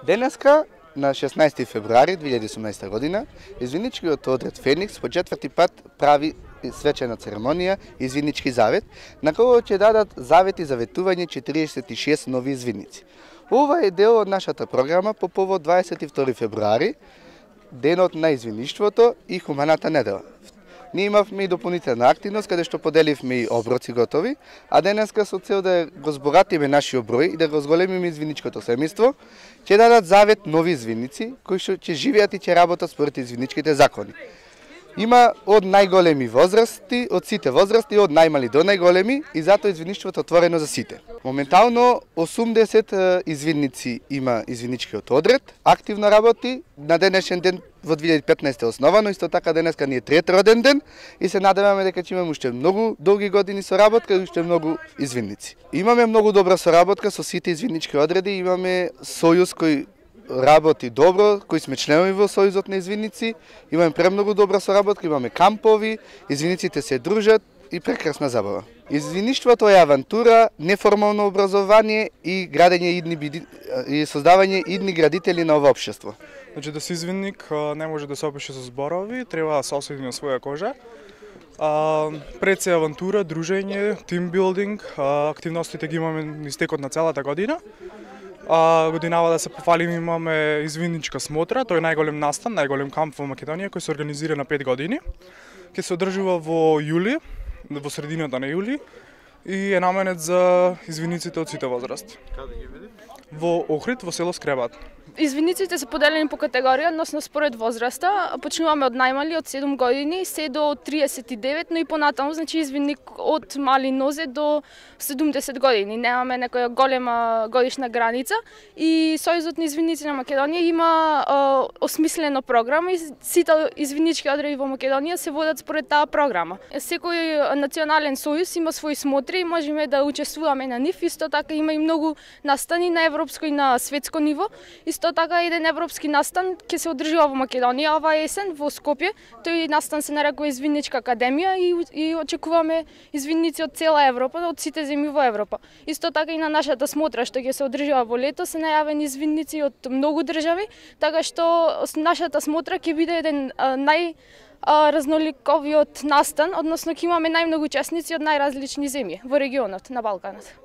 Денеска, на 16 февруари 2018 година, извинничкиот одред Феникс по четврти пат прави свечена церемонија Извиннички завет, на кој ќе дадат завети за ветување 46 нови извинници. Ова е дел од нашата програма по повод 22 февруари, денот на извинништвото и хуманата недела. Ние имавме и дополнителна активност каде што поделивме и оброци готови, а денеска со цел да го збогатиме нашиот број и да го зголемиме извинничкото семејство, ќе дадат завет нови извинници кои што ќе живеат и ќе работат според извинничките закони. Има од најголеми возрасти, од сите возрасти, од најмали до најголеми и затоа извинништвото е отворено за сите. Моментално 80 извинници има извинничкиот одред, активно работи, на денешен ден во 2015 е основано, исто така денеска ни е трет роден ден и се надеваме дека ќе имаме уште многу долги години соработка и уште многу извинници. Имаме многу добра соработка со сите извиннички одреди, имаме сојуз кој работи добро, кои сме членови во Сојузот на извинници, имаме премногу добра соработка, имаме кампови, извинниците се дружат и прекрасна забава. Извинништвото е авантура, неформално образование и градење и создавање идни градители на ова општество. Значи да си извинник не може да се опише со зборови, треба да се осети на своја кожа. Пред се авантура, дружење, тимбилдинг, активностите ги имаме низ текот на целата година. Годинава да се пофалим имаме извинничка смотра, тој е најголем настан, најголем камп во Македонија кој се организира на 5 години. Ќе се одржува во јули, во средината на јули и е наменет за извинниците од сите возрасти. Каде ги биде? Во Охрид, во село Скребат. Извинниците се поделени по категорија, односно според возраста. Почнуваме од најмали, од 7 години, се до 39, но и понатаму, значи извинник од мали нозе до 70 години. Немаме некоја голема годишна граница и Сојузот на извинници на Македонија има осмислено програма и сите извиннички одреди во Македонија се водат според таа програма. Секој национален сојуз има свои смотри и можеме да учествуваме на нив. Исто така има и многу настани на европско и на светско ниво. Исто така еден европски настан ќе се одржува во Македонија оваа есен во Скопје. Тој настан се нарекува Извинничка академија и очекуваме извинници од цела Европа, од сите земји во Европа. Исто така и на нашата смотра што ќе се одржува во лето се најавени извинници од многу држави, така што нашата смотра ќе биде еден разноликовиот настан, односно ќе имаме најмногу учесници од најразлични земји во регионот на Балканот.